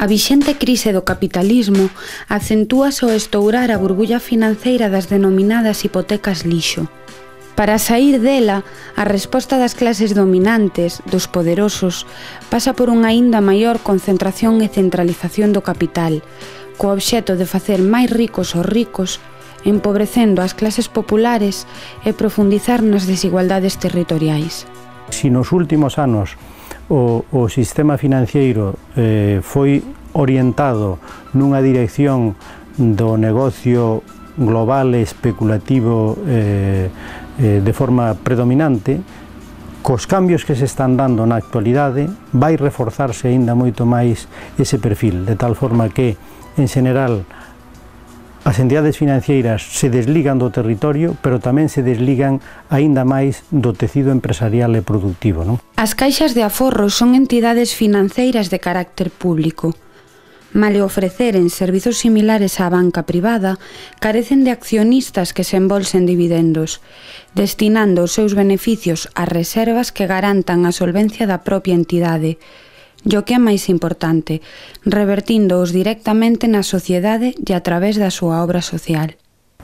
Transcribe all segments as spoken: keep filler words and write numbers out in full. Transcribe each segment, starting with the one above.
A vixente crise do capitalismo acentúase ao estourar a burbulla financeira das denominadas hipotecas lixo. Para saír dela, a resposta das clases dominantes, dos poderosos, pasa por unha aínda maior concentración e centralización do capital, co obxecto de facer máis ricos os ricos, empobrecendo as clases populares e profundizar nas desigualdades territoriais. Si nos últimos anos o, o sistema financiero eh, foi orientado nunha dirección do negocio global e especulativo eh, eh, de forma predominante, cos cambios que se están dando na actualidade vai reforzarse aínda moito máis ese perfil, de tal forma que, en xeral, as entidades financeiras se desligan do territorio, pero tamén se desligan aínda máis do tecido empresarial e productivo, non? As caixas de aforro son entidades financeiras de carácter público. Male ofreceren servizos similares á banca privada, carecen de accionistas que se embolsen dividendos, destinando os seus beneficios a reservas que garantan a solvencia da propia entidade, e o que é máis importante, revertíndoos directamente na sociedade e a través da súa obra social.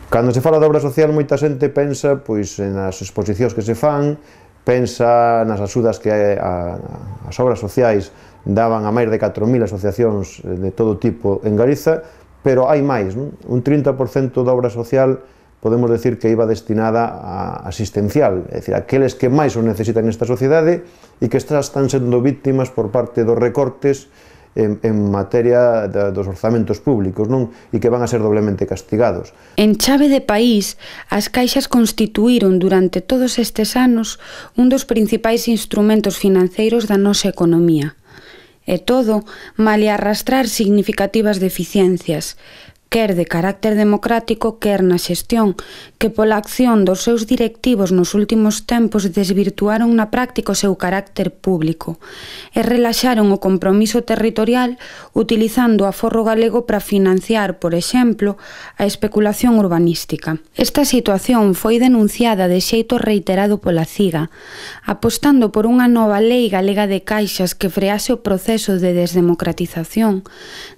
Cando se fala de obra social, moita xente pensa pois, nas exposicións que se fan, pensa nas axudas que a, as obras sociais daban a máis de catro mil asociacións de todo tipo en Galiza, pero hai máis, non? Un trinta por cento da obra social podemos decir que iba destinada a asistencial, é dicir, aqueles que máis o necesitan nesta sociedade e que están sendo víctimas por parte dos recortes en, en materia de, dos orzamentos públicos, non? E que van a ser doblemente castigados. En chave de país, as caixas constituíron durante todos estes anos un dos principais instrumentos financeiros da nosa economía. E todo, male arrastrar significativas deficiencias, quer de carácter democrático, quer na xestión, que pola acción dos seus directivos nos últimos tempos desvirtuaron na práctica o seu carácter público e relaxaron o compromiso territorial utilizando o aforro galego para financiar, por exemplo, a especulación urbanística. Esta situación foi denunciada de xeito reiterado pola CIGA, apostando por unha nova lei galega de caixas que frease o proceso de desdemocratización,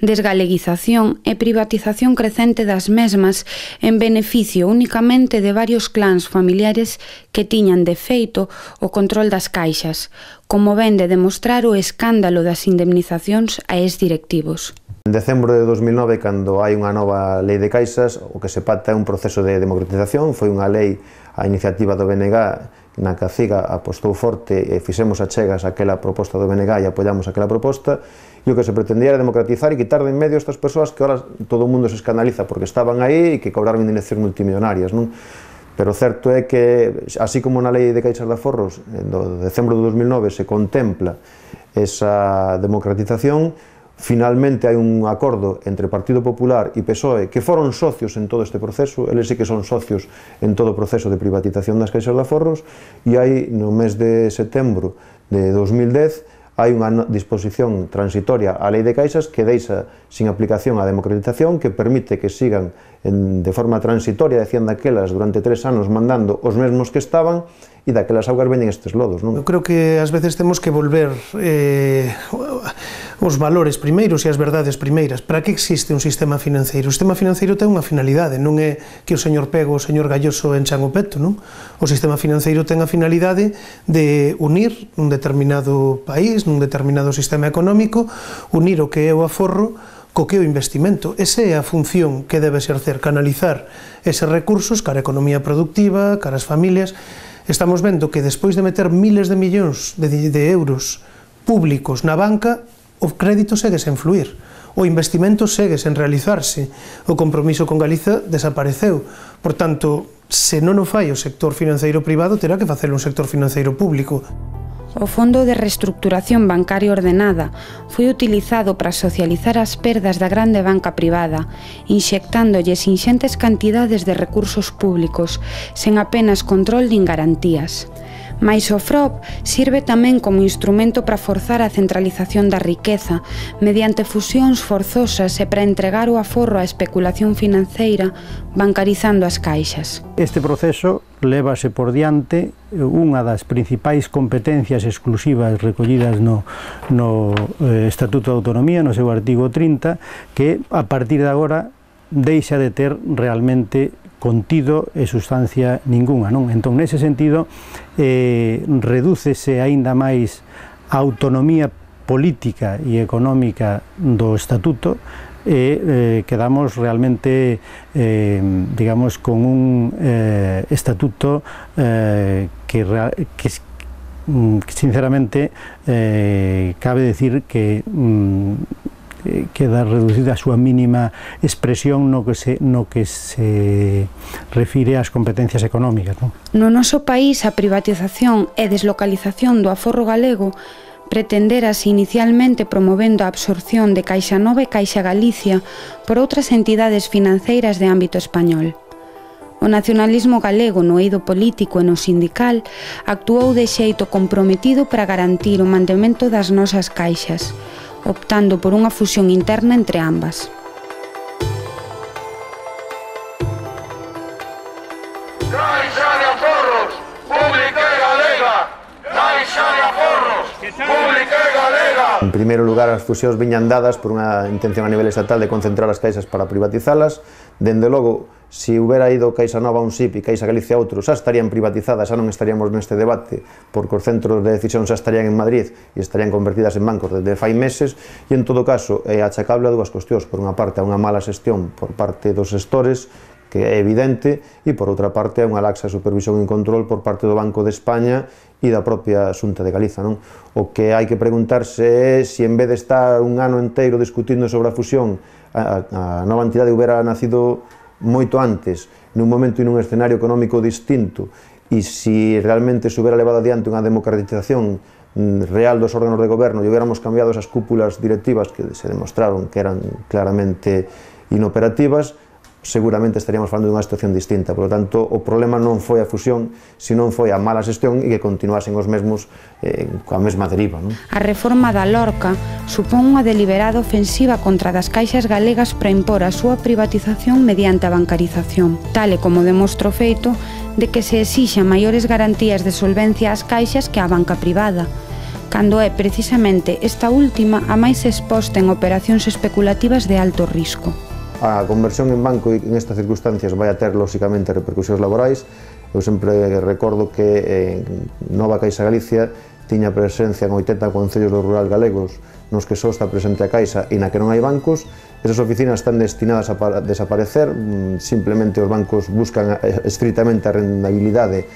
desgaleguización e privatización crecente das mesmas en beneficio únicamente de varios clans familiares que tiñan de feito o control das caixas, como ven de demostrar o escándalo das indemnizacións a exdirectivos. En decembro de dos mil nove, cando hai unha nova lei de caixas, o que se pacta é un proceso de democratización, foi unha lei a iniciativa do B N G na que a CIGA apostou forte e fixemos achegas aquela proposta do B N G e apoiamos aquela proposta, e o que se pretendía era democratizar e quitar de en medio estas persoas que ahora todo o mundo se escandaliza porque estaban aí e que cobraron indemnizacións multimillonarias, non? Pero o certo é que, así como na lei de caixas de aforros, do decembro de dos mil nove se contempla esa democratización, finalmente hai un acordo entre Partido Popular e P S O E que foron socios en todo este proceso, eles sí que son socios en todo o proceso de privatización das caixas de aforros, e hai no mes de setembro de dos mil dez hai unha disposición transitoria á lei de caixas que deixa sin aplicación a democratización, que permite que sigan en, de forma transitoria, decían daquelas, durante tres anos mandando os mesmos que estaban, e daquelas augas veñen estes lodos, non? Eu creo que ás veces temos que volver eh, os valores primeiros e as verdades primeiras. Para que existe un sistema financeiro? O sistema financeiro ten unha finalidade, non é que o señor Pego ou o señor Galloso enchan o peto, non? O sistema financeiro ten a finalidade de unir un determinado país, nun determinado sistema económico, unir o que é o aforro co que é o investimento. Esa é a función que debe exercer, canalizar eses recursos cara a economía productiva, cara ás familias. Estamos vendo que despois de meter miles de millóns de, de euros públicos na banca, o crédito segue sen fluir, o investimento segue sen realizarse, o compromiso con Galiza desapareceu. Por tanto, se non o fai o sector financeiro privado, terá que facelo un sector financeiro público. O Fondo de Reestructuración Bancaria Ordenada foi utilizado para socializar as perdas da grande banca privada, inxectándolles inxentes cantidades de recursos públicos, sen apenas control nin garantías. Mais o F R O P sirve tamén como instrumento para forzar a centralización da riqueza mediante fusións forzosas e para entregar o aforro á especulación financeira bancarizando as caixas. Este proceso lévase por diante unha das principais competencias exclusivas recollidas no, no eh, Estatuto de Autonomía, no seu artigo trinta, que a partir de agora deixa de ter realmente contido e sustancia ninguna, non? Entón, nese sentido, eh, redúcese aínda máis a autonomía política e económica do Estatuto e eh, quedamos realmente, eh, digamos, con un eh, Estatuto eh, que, que, que sinceramente eh, cabe decir que mm, queda reducida a súa mínima expresión no que se, no que se refire ás competencias económicas, non? No noso país, a privatización e deslocalización do aforro galego pretenderase inicialmente promovendo a absorción de Caixa Nova e Caixa Galicia por outras entidades financeiras de ámbito español. O nacionalismo galego no eido político e no sindical actuou de xeito comprometido para garantir o mantemento das nosas caixas, optando por unha fusión interna entre ambas. Caixa de Aforros, pública e galega! Caixa de Aforros, pública e galega! En primeiro lugar, as fusións viñan dadas por unha intención a nivel estatal de concentrar as caixas para privatizalas. Dende logo, se houbera ido Caixa Nova a un S I P e Caixa Galicia a outro, xa estarían privatizadas, xa non estaríamos neste debate, porque os centros de decisión xa estarían en Madrid e estarían convertidas en bancos desde fai meses, e en todo caso é achacable a dúas cuestións. Por unha parte, a unha mala xestión por parte dos xestores, que é evidente, e por outra parte, a unha laxa supervisión e control por parte do Banco de España e da propia Xunta de Galiza, non? O que hai que preguntarse é se en vez de estar un ano inteiro discutindo sobre a fusión, a, a nova entidade houbera nacido moito antes, nun momento e nun escenario económico distinto, e se realmente se houbera levado adiante unha democratización real dos órganos de goberno e houbéramos cambiado esas cúpulas directivas que se demostraron que eran claramente inoperativas, seguramente estaríamos falando dunha situación distinta. Por lo tanto, o problema non foi a fusión, senón foi a mala xestión e que continuasen os mesmos eh, coa mesma deriva, non? A reforma da Lorca supón unha deliberada ofensiva contra das caixas galegas para impor a súa privatización mediante a bancarización, tal e como demostra o feito de que se exixan maiores garantías de solvencia ás caixas que á banca privada, cando é precisamente esta última a máis exposta en operacións especulativas de alto risco. A conversión en banco en estas circunstancias vai a ter, lóxicamente, repercusións laborais. Eu sempre recordo que en Nova Caixa Galicia tiña presencia en oitenta concellos do rural galegos nos que só está presente a Caixa e na que non hai bancos. Esas oficinas están destinadas a desaparecer, simplemente os bancos buscan estritamente a rendabilidade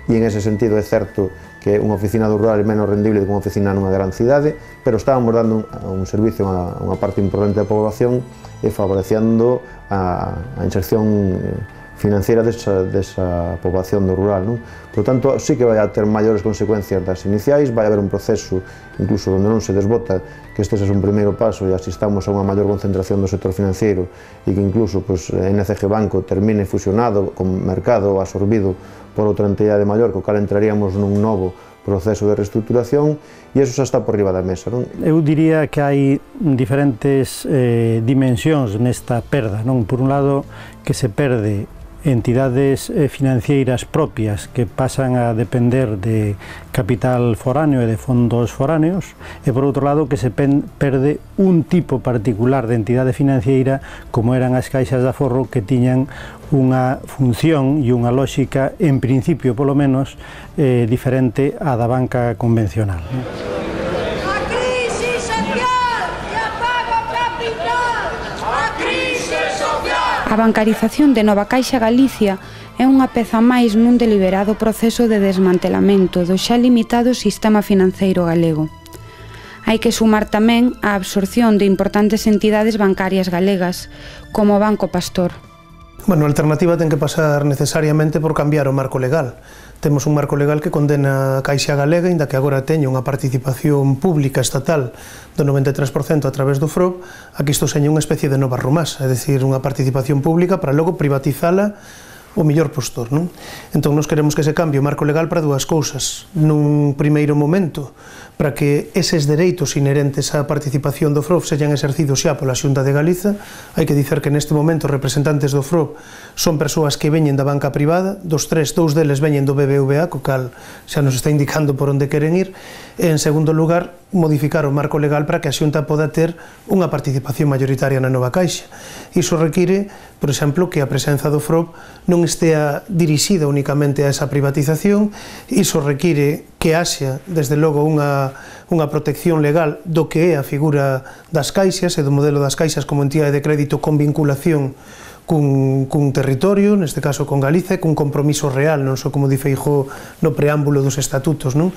e en ese sentido é certo que unha oficina do rural é menos rendible que unha oficina nunha gran cidade, pero estábamos dando un, un servicio a unha parte importante da población e favorecendo a, a inserción financiera desa, desa poboación do rural, non? Por tanto, sí que vai a ter maiores consecuencias das iniciais, vai haber un proceso incluso onde non se desbota que este é un primeiro paso e asistamos a unha maior concentración do sector financiero e que incluso pues, N C G Banco termine fusionado con mercado absorbido por outra entidade maior, co cal entraríamos nun novo proceso de reestructuración e iso xa está por riba da mesa, non? Eu diría que hai diferentes eh, dimensións nesta perda, non? Por un lado, que se perde entidades eh, financeiras propias que pasan a depender de capital foráneo e de fondos foráneos, e por outro lado que se perde un tipo particular de entidade financiera como eran as caixas de aforro, que tiñan unha función e unha lógica, en principio polo menos, eh, diferente á da banca convencional. A crise social que apaga o capital! A crise social! A bancarización de Nova Caixa Galicia é unha peza máis nun deliberado proceso de desmantelamento do xa limitado sistema financeiro galego. Hai que sumar tamén a absorción de importantes entidades bancarias galegas, como o Banco Pastor. Bueno, a alternativa ten que pasar necesariamente por cambiar o marco legal. Temos un marco legal que condena a Caixa Galega, inda que agora teña unha participación pública estatal do noventa e tres por cento a través do F R O P, aquí isto seña unha especie de nova rumasa, é dicir, unha participación pública para logo privatizala o millor postor, non? Entón, nos queremos que se cambie o marco legal para dúas cousas. Nun primeiro momento, para que eses dereitos inherentes á participación do F R O B sexan exercidos xa pola Xunta de Galiza. Hai que dicer que neste momento os representantes do F R O B son persoas que veñen da banca privada, dos tres, dous deles veñen do B B V A, co cal xa nos está indicando por onde queren ir, e en segundo lugar, modificar o marco legal para que a Xunta poda ter unha participación mayoritaria na nova Caixa. Iso require, por exemplo, que a presenza do F R O B non estea dirixida únicamente a esa privatización. Iso require que haxa, desde logo, unha, unha protección legal do que é a figura das caixas e do modelo das caixas como entidade de crédito con vinculación cun, cun territorio, neste caso con Galiza, e cun compromiso real, non só como di Feijóo no preámbulo dos estatutos, non?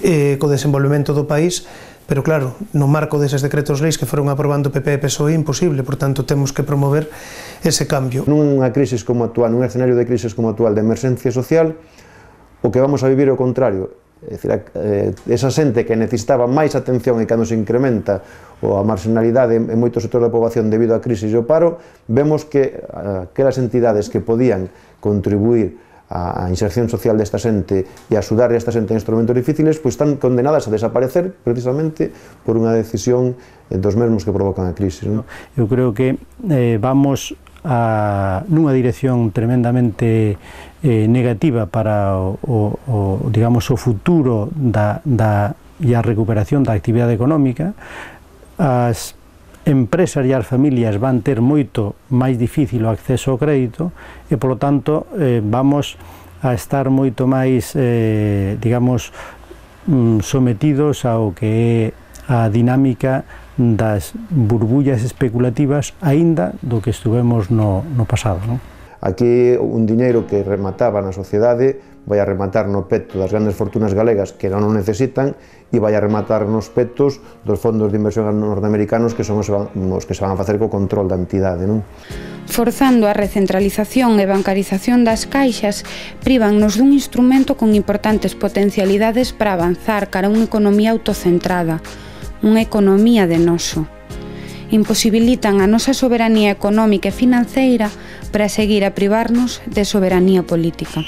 Eh, co desenvolvemento do país, pero claro, no marco deses decretos leis que foron aprobando P P e P S O E é imposible, por tanto temos que promover ese cambio. Nunha crisis como actual, nun escenario de crisis como actual de emerxencia social, o que vamos a vivir é o contrario. É dicir, esa xente que necesitaba máis atención e cando se incrementa a marginalidade en moitos sectores da poboación debido á crise e ao paro, vemos que aquelas entidades que podían contribuir a inserción social desta xente e a axudar a esta xente en instrumentos difíciles, pois están condenadas a desaparecer precisamente por unha decisión dos mesmos que provocan a crise. Eu creo que eh, vamos a, nunha dirección tremendamente eh, negativa para o, o, o, digamos, o futuro da, da, e a recuperación da actividade económica. As empresas e as familias van ter moito máis difícil o acceso ao crédito e, polo tanto, eh, vamos a estar moito máis, eh, digamos, sometidos ao que é a dinámica das burbullas especulativas aínda do que estuvemos no, no pasado, non? Aquí un diñeiro que remataba na sociedade vai a rematar no peto das grandes fortunas galegas que non o necesitan e vai a rematar nos petos dos fondos de inversión norteamericanos que son os que se van a facer co control da entidade, non? Forzando a recentralización e bancarización das caixas, prívannos dun instrumento con importantes potencialidades para avanzar cara a unha economía autocentrada, unha economía de noso. Imposibilitan a nosa soberanía económica e financeira para seguir a privarnos de soberanía política.